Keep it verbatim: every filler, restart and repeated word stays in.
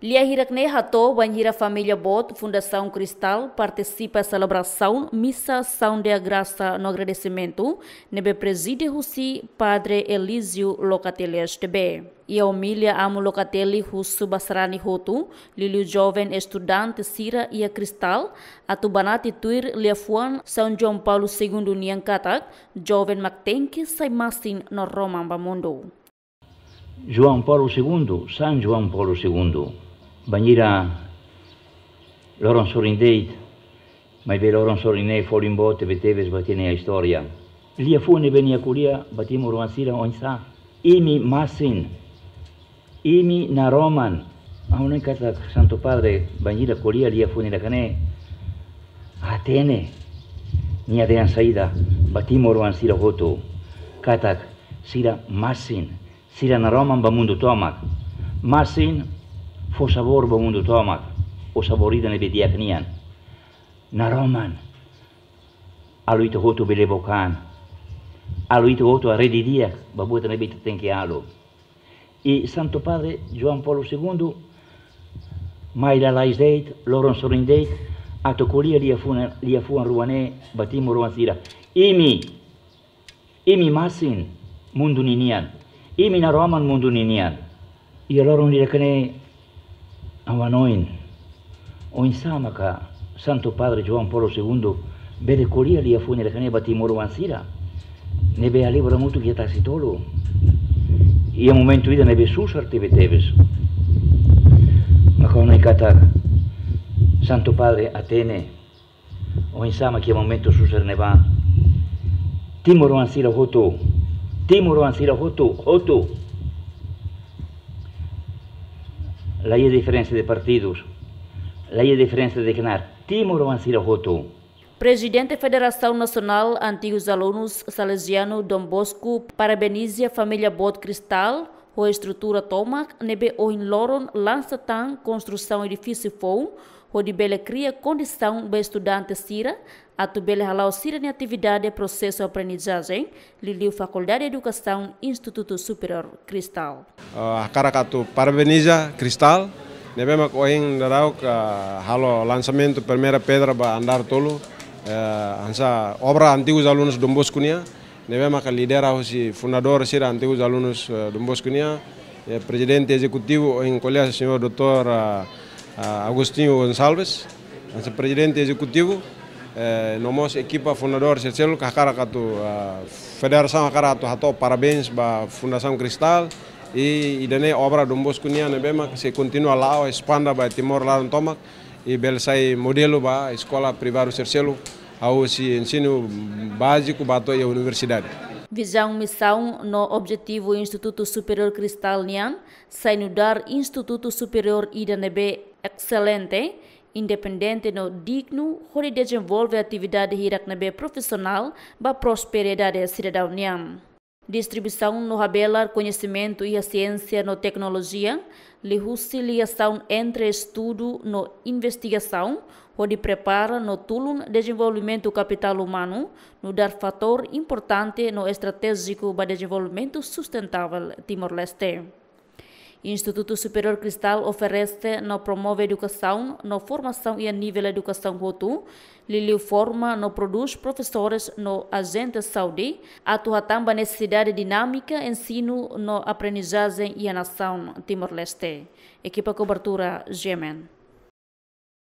Lia hirak-ne'e hato'o bainhira família boot Fundasaun Cristal partisipa selebrasaun misa Asaun de Grasa no agradesimentu ne'ebé prezide husi Padre Elísio Locatelli S T B. Iha omilia Amu Locatelli husu ba sarani hotu, liuliu joven estudante sira iha Cristal, atu banati tuir liafuan São João Paulo Segundo nian katak, joven mak tenke sai masin no roman ba mundu. João Paulo Segundo, São João Paulo Segundo. Bainhira loron sorin de'it, maibé loron sorin ne'e folin boot tebetebes ba ita-nia istória. Liafuan ne'ebé nia ko'alia ba timoroan sira oinsá? Imi masin, imi naroman. Ha'u hanoin katak Santu Padre bainhira ko'alia liafuan hirak-ne'e, hatene nia dehan saida ba timoroan sira hotu, katak sira masin, sira naroman ba mundu tomak. Masin fó sabór ba mundu tomak, ho sabór ida ne'ebé di'ak nian. Naroman, halo ita hotu bele book an, halo ita hotu haree didi'ak ba buat ne'ebé ita tenke halo. I Santu Padre João Paulo Segundo mai lalais de'it, loron sorin de'it, atu ko'alia liafuan, liafuan rua ne'e ba timoroan sira. Imi, imi masin mundu ninian. Imi naroman mundu ninian. Iha loron hirak-ne'e ha'u hanoin, oinsá maka Santu Padre João Paulo Segundo bele ko'alia liafuan hirak-ne'e ba timoroan sira ne'ebé halibur hamutuk iha Tasitolu, iha momentu ida ne'ebé susar tebetebes. Maka ha'u hanoin katak Santu Padre hatene oinsá mak iha momentu susar ne'ebá timoroan sira hotu, timoroan sira hotu, hotu. La iha diferensa de partidus, la iha diferensa de knaar, timoroan sira hotu. Prezidente Federasaun Nasionál Antigus Alunus Salesianu Dom Bosco parabeniza família boot Cristal ho estrutura tomak ne'ebé ohin loron lansa tan konstrusaun edifísiu foun, hodi bele kria kondisaun ba estudante sira atu bele hala'o sira-nia atividade prosesu aprendizajen, liuliu Fakuldade Edukasaun Institutu Superiór Cristal. Ah, hakarak atu parabeniza Cristal ne'ebé mak ohin daudauk halo lansamentu primeira pedra ba andár tolu, eh, hanesan obra Antigus Alunus Dom Bosco nian, ne'ebé maka lidera husi fundadór sira Antigus Alunus, eh, Dom Bosco nian, eh, prezidente ezekutivu ohin ko'alia señór doutór, ah, ah, Agostinho Gonçalves, hanesan prezidente ezekutivu, eh, no mós ekipa fundadór sira seluk hakarak atu, ah, federasaun hakarak atu hato'o parabéns ba Fundasaun Cristal, i ida-ne'e obra Dom Bosco nian ne'ebé mak sei kontinua la'o espanda ba Timor laran tomak, i bele sai modelu ba eskola privadu sira seluk, hahú husi ensinu báziku ba to'o iha universidade. Vizaun, misaun no objetivu Institutu Superiór Cristal nian sai nu'udar institutu superiór ida ne'ebé exelente, independente no dignu hodi dezenvolve atividade hirak ne'ebé profisionál ba prosperidade sidadaun nian. Distribuisaun no habelar koñesimentu iha siénsia no teknolojia, liuhusi ligasaun entre estudu no investigasaun, hodi prepara no tulun dezenvolvimentu kapitál umanu, nu'udar fatór importante no estratéjiku ba dezenvolvimentu sustentável Timor-Leste. Institutu Superiór Cristal oferese no promove edukasaun no formasaun iha nivel edukasaun hotu, liuliu forma no prodús profesores no ajente saúde, atu hatán ba nesesidade dinámika ensinu no aprendizajen iha nasaun Timor-Leste. Ekipa kobertura, G M N.